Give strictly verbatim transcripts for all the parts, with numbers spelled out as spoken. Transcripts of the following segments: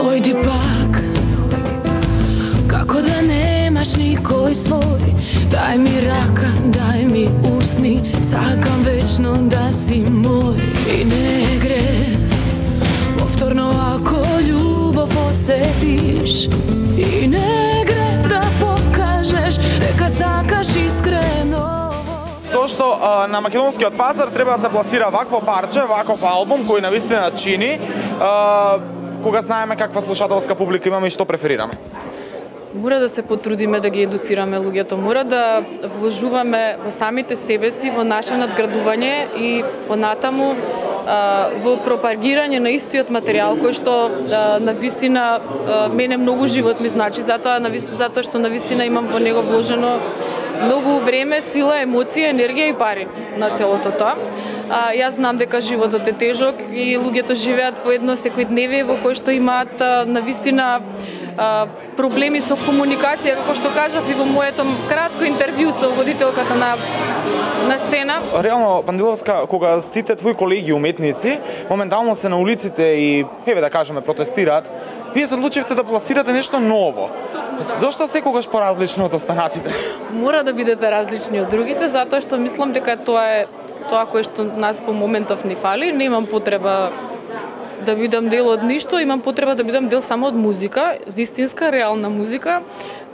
Дојди пак, како да немаш никој свој. Дај ми рака, дај ми усни, сакам вечно да си мој. И не грев, повторно ако љубов осетиш. И не грев да покажеш дека сакаш искрено. Зошто а, на македонскиот пазар треба да се пласира вакво парче, ваков албум кој навистина чини, а, кога знаеме каква слушателска публика имаме и што преферираме? Мора да се потрудиме да ги едуцираме луѓето, мора да вложуваме во самите себе си, во наше надградување и понатаму во пропагирање на истиот материјал кој што навистина мене многу живот ми значи, затоа затоа што навистина имам во него вложено многу време, сила, емоција, енергија и пари на целото тоа. А, јас знам дека животот е тежок и луѓето живеат во едно секојдневие во кој што имаат навистина проблеми со комуникација, како што кажав и во моето кратко интервју со водителката на на сцена. Реално, Пандиловска, кога сите твои колеги уметници моментално се на улиците и, еве да кажеме, протестираат, вие се одлучивте да пласирате нешто ново. Зошто секогаш поразлично од останатите? Мора да бидете различни од другите, затоа што мислам дека тоа е тоа кое што нас во моментов ни фали. Немам потреба да бидам дел од ништо, имам потреба да бидам дел само од музика, вистинска, реална музика,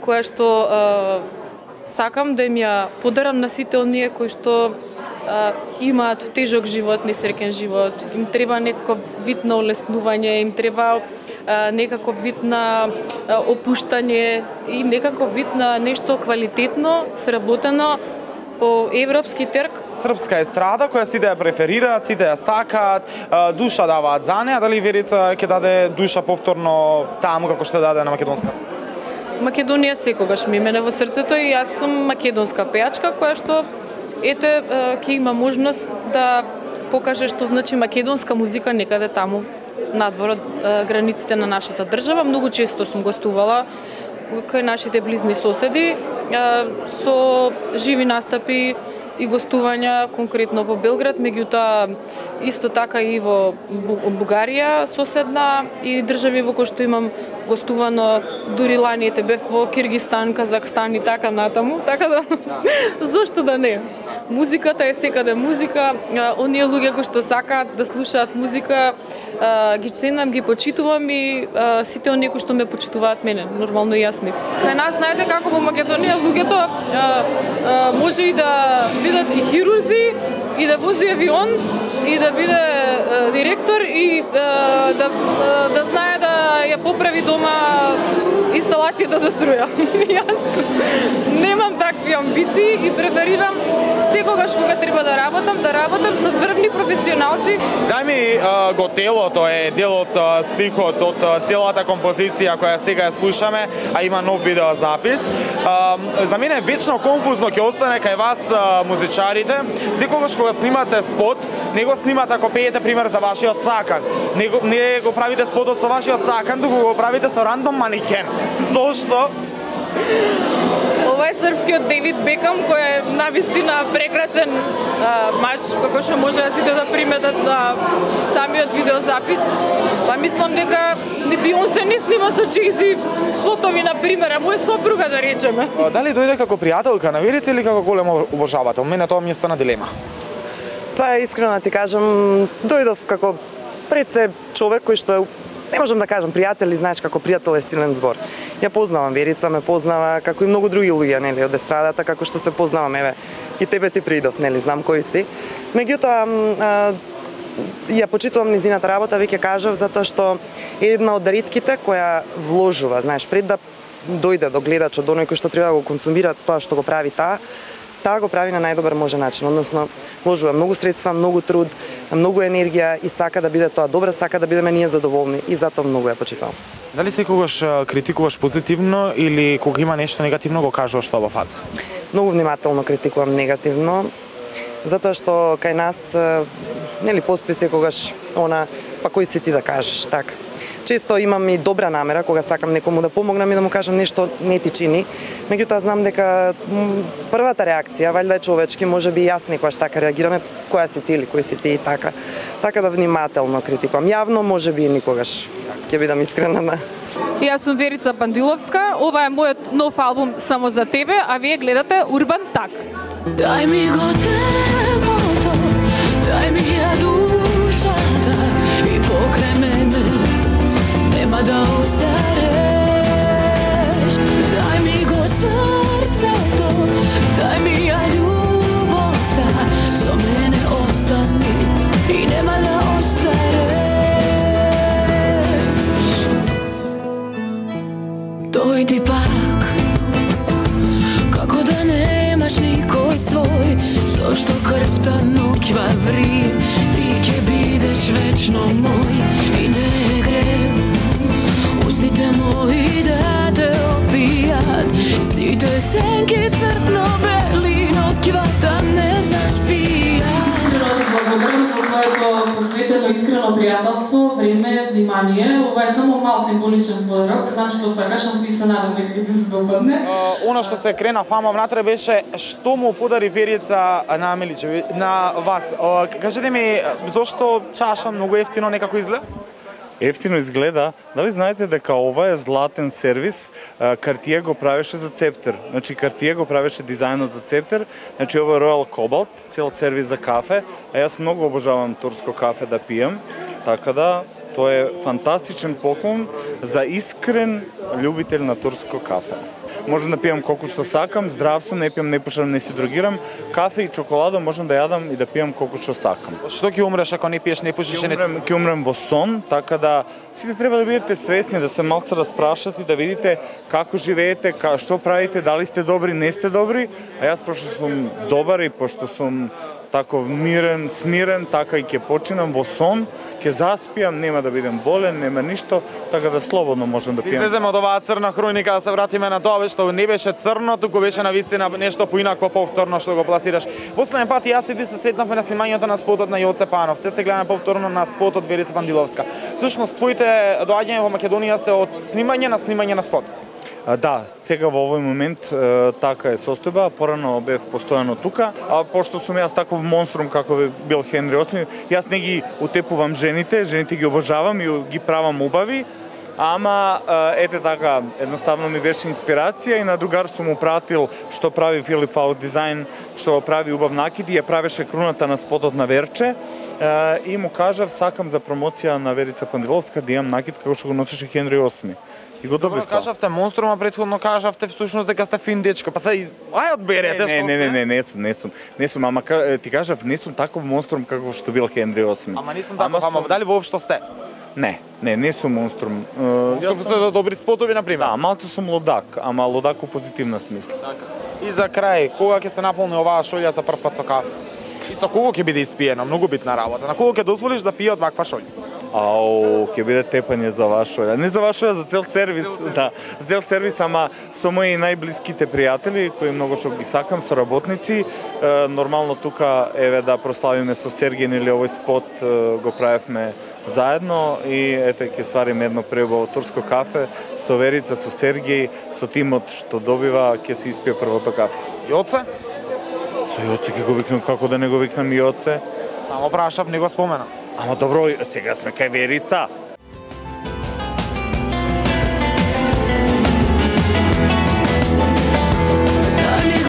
која што е, сакам да им ја подарам на сите оние кои што е, имаат тежок живот, несреќен живот, им треба некаков вид на олеснување, им треба е, некаков вид на е, опуштање и некаков вид на нешто квалитетно, сработено, по европски терк. Српска естрада која сите ја преферираат, сите ја сакаат, душа даваат за неа, дали Верица ќе даде душа повторно таму како што даде на македонска? Македонија секогаш ми мене во срцето и јас сум македонска пејачка која што ете ќе има можност да покаже што значи македонска музика некаде таму надвор од границите на нашата држава. Многу често сум гостувала кај нашите близни соседи со живи настапи и гостувања конкретно во Белград, меѓутоа исто така и во Бугарија соседна и држави во кои што имам гостувано, дури лани ете бев во Киргистан, Казахстан и така натаму, така да зошто да не? Музиката е секаде музика, оние луѓе кои што сакаат да слушаат музика, ги ценам, ги почитувам и сите оние кои што ме почитуваат мене, нормално и јас нив. Кај нас знаете како во Македонија луѓето може и да бидат и хирурзи, и да вози авион, и да биде директор, и да, да знае да ја поправи дома инсталацијата за струја. Јас немам такви амбиции и преферирам секогаш кога треба да работам, да работам со врвни професионалци. Дај ми а, готелото е дел од а, стихот, од а, целата композиција која сега ја слушаме, а има нов видеозапис. А, за мене вечно конфузно ќе остане кај вас а, музичарите, секогаш кога снимате спот, не го снимате ако пеете пример за вашиот сакан, не го, не го правите спотот со вашиот сакан, туку го правите со рандом маникен. Зошто? Ова е српскиот Девид Бекам, кој е навистина прекрасен а, маж, како што може да сите да приметат на самиот видеозапис. Па мислам дека не Бионсе не снима со Джейзи спотови на пример, а мој сопруга да речеме. Дали дојде како пријателка на Верица или како голем обожавател? Мене тоа ми е стана дилема. Па искрено ти кажам, дојдов како пред се човек кој што е, не можам да кажам пријател, знаеш како пријател е силен збор. Ја познавам Верица, ме познава како и многу други луѓе, нели, од естрадата, како што се познаваме, еве, и тебе ти придов, нели, знам кој си. Меѓутоа, ја почитувам низината работа, веќе кажав, затоа што е една од ретките која вложува, знаеш, пред да дојде до гледачот, до оној кој што треба да го консумира тоа што го прави таа, таа го прави на најдобар може начин, односно вложува многу средства, многу труд, многу енергија и сака да биде тоа добра, сака да бидеме ние задоволни и затоа многу ја почитувам. Дали секогаш критикуваш позитивно или кога има нешто негативно го кажуваш тоа во фаца? Многу внимателно критикувам негативно. Затоа што кај нас нели постои секогаш она па кој си ти да кажеш, така. Често имам и добра намера кога сакам некому да помогнам и да му кажам нешто не ти чини, меѓутоа знам дека првата реакција валјда е човечки, можеби и јас некогаш така реагираме, која си ти или кој си ти и така. Така да внимателно критикувам. Јавно можеби и никогаш. Ќе бидам искрена на. Јас сум Верица Пандиловска, ова е мојот нов албум Само за тебе, а вие гледате Урбан Так. Дај ми го телото, дај ми ја душата и покрај мене нема да остареш. Дај ми го срцето, дај ми ја љубовта, со мене остани и нема да остареш. Дојди пак, како да немаш никој свој, зошто крвта ноќва ври, ти ќе бидеш вечно мој и не грев. Устните мои да те опијат, сите сенки црпно-бели, ноќвата не заспијат. Искрено ти благодарам за твоето посветено искрено пријателство, време, внимание. Ова е само мал символичен подарок, знам што сакаш, а ти се надам дека ти се допадне. Оно што се крена фама внатре беше што му подари Верица на Миличеви, на вас. Кажете ми, зошто чаша многу ефтино некако изгледа? Ефтино изгледа. Дали знаете дека ова е златен сервис? Cartier го правеше за Цептер. Значи Cartier го правеше дизајнот за Цептер. Значи ова е Royal Cobalt, цел сервис за кафе. А јас многу обожавам турско кафе да пијам. Така да, тоа е фантастичен поклон за искрен љубител на турско кафе. Можам да пијам колку што сакам, здрав сум, не пијам, не пушам, не си другирам. Кафе и чоколадо можам да јадам и да пијам колку што сакам. Што ќе умреш ако не пиеш, не пушиш, не умрем, ќе умрем во сон, така да сите треба да бидете свесни, да се малку распрашате, да видите како живеете, ка, што правите, дали сте добри, не сте добри. А јас пошто сум добар и пошто сум таков мирен, смирен, така и ќе починам во сон, ќе заспијам, нема да бидем болен, нема ништо, така да слободно можам да пијам. Излеземе од оваа црна хроника, да се вратиме на тоа што не беше црно, туку беше навистина нешто поинакво повторно што го пласираш. Последен пат јас и ти се сретнавме на снимањето на спотот на Јоце Панов. Се се гледаме повторно на спотот Верица Пандиловска. Всушност твоите доаѓања во Македонија се од снимање на снимање на спот. Да, сега во овој момент е, така е состојба, порано бев постојано тука, а пошто сум јас таков монструм како бил Хенри осми, јас не ги утепувам жените, жените ги обожавам и ги правам убави, ама ете така, едноставно ми беше инспирација и на другар сум му пратил што прави Филип Фаус дизајн, што прави убав накид и ја правеше круната на спотот на Верче и му кажав сакам за промоција на Верица Пандиловска да имам накид како што го носеше Хенри осми. И го добив тоа. Кажавте монструма, претходно кажавте всушност дека сте фин дечко. Па се ај одберете што. Не, не, не, не, не сум, не сум. Не сум, ама ти кажав, не сум таков монструм како што бил Хенри осми. Ама не сум таков, ама дали воопшто сте? Не, не, не сум монструм. Јас сте за добри спотови на пример. Да, малку сум лудак, ама лудак у позитивна смисла. И за крај, кога ќе се наполни оваа шолја за прв пат со кафе? И со кого ќе биде испиена? Многу битна работа. На кого ќе дозволиш да пие од ваква шолја? Ау, ќе биде тепање за вашоја. Не за вашоја, за цел сервис, да. За цел сервис, ама со мои најблиските пријатели, кои многу што ги сакам, со работници. Е, нормално тука, еве, да прославиме со Сергеј, или овој спот е, го правевме заедно и ете, ќе свариме едно преубаво турско кафе со Верица, со Сергеј, со тимот што добива, ќе се испие првото кафе. Јоце? Со Јоце ќе го викнам, како да не го викнам Јоце? Само прашав, не го спомена. Ама добро, сега сме кај Верица.